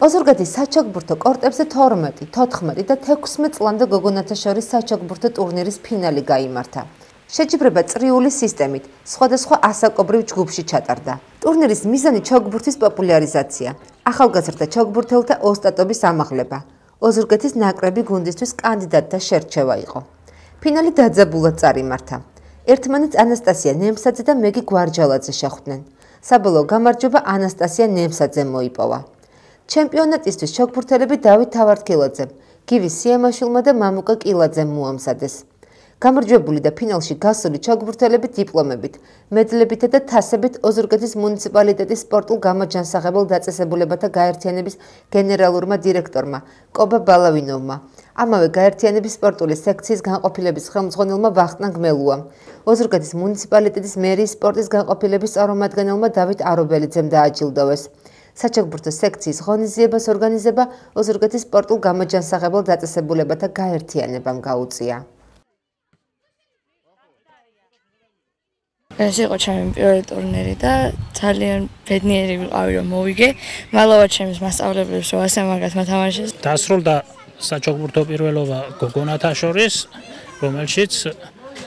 ოზურგეთის საჩოგბურთო კორტებზე 12, 14 და 16 წლამდე გოგონათა შორის საჩოგბურთო ტურნირის ფინალი გაიმართა. შეჯიბრება წრიული სისტემით, სხვადასხვა ასაკობრივ ჯგუფში ჩატარდა. ტურნირის მიზანი ჩოგბურთის პოპულარიზაცია, ახალგაზრდა ჩოგბურთელთა ოსტატობის ამაღლება, ოზურგეთის ნაკრები გუნდისთვის კანდიდატთა შერჩევა იყო. ფინალი დაძაბულად წარიმართა. ერთმანეთს ანასტასია ნემსაძე და მეგი გვარჯალაძე შეხვდნენ. საბოლოო გამარჯვება ანასტასია ნემსაძემ მოიპოვა. ჩემპიონატისთვის ჩოგბურთელები დავით თავარქილაძემ, გივი სიამაშვილმა და მამუკა კილაძემ მოამზადეს. გამარჯვებული და ფინალში გასული ჩოგბურთელები დიპლომებით, მედლებითა და თასებით ოზურგეთის მუნიციპალიტეტის სპორტულ გამოჯანსაღებელ დაწესებულებათა გაერთიანების გენერალურმა დირექტორმა კობა ბალავინოვმა, ამავე გაერთიანების სპორტული სექციის განყოფილების ხელმძღვანელმა ვახტანგ მელუამ, ოზურგეთის მუნიციპალიტეტის მერიის სპორტის განყოფილების წარმომადგენელმა დავით არობელიძემ დააჯილდოვეს. საჩოგბურთო სექციის ღონისძიებას ორგანიზება ოზურგეთის სპორტულ გამოჯანსაღებელ დაწესებულებათა გაერთიანებამ გაუწია. ეს იყო ჩემი პირველი ტურნირი და ძალიან ბედნიერი ვიყავი რომ მოვიგე. მალოვა ჩემს მასწავლებლებს რომ ასე მაგათ მოთამაშეს. დასრულდა საჩოგბურთო პირველობა გოგონათა შორის, რომელშიც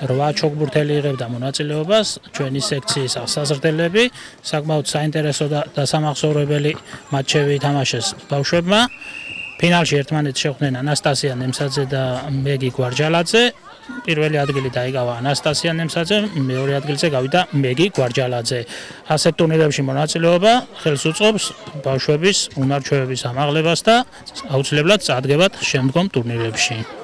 8 ჩოგბურთელი იღებდა მონაწილეობას, ჩვენი სექციის აღსაზრდელები, საკმაოდ საინტერესო და დასამახსოვრებელი მატჩები ითამაშეს ბავშვებმა. ფინალში ერთმანეთს შეხვდნენ ანასტასია ნემსაძე და მეგი გვარჯალაძე. პირველი ადგილი დაიკავა ანასტასია ნემსაძემ, მეორე ადგილზე გავიდა მეგი გვარჯალაძე. ასეთ ტურნირებში მონაწილეობა ხელს უწყობს ბავშვების უნარ-ჩვევების ამაღლებას და აუცილებლად წარდგებათ შემდგომ ტურნირებში.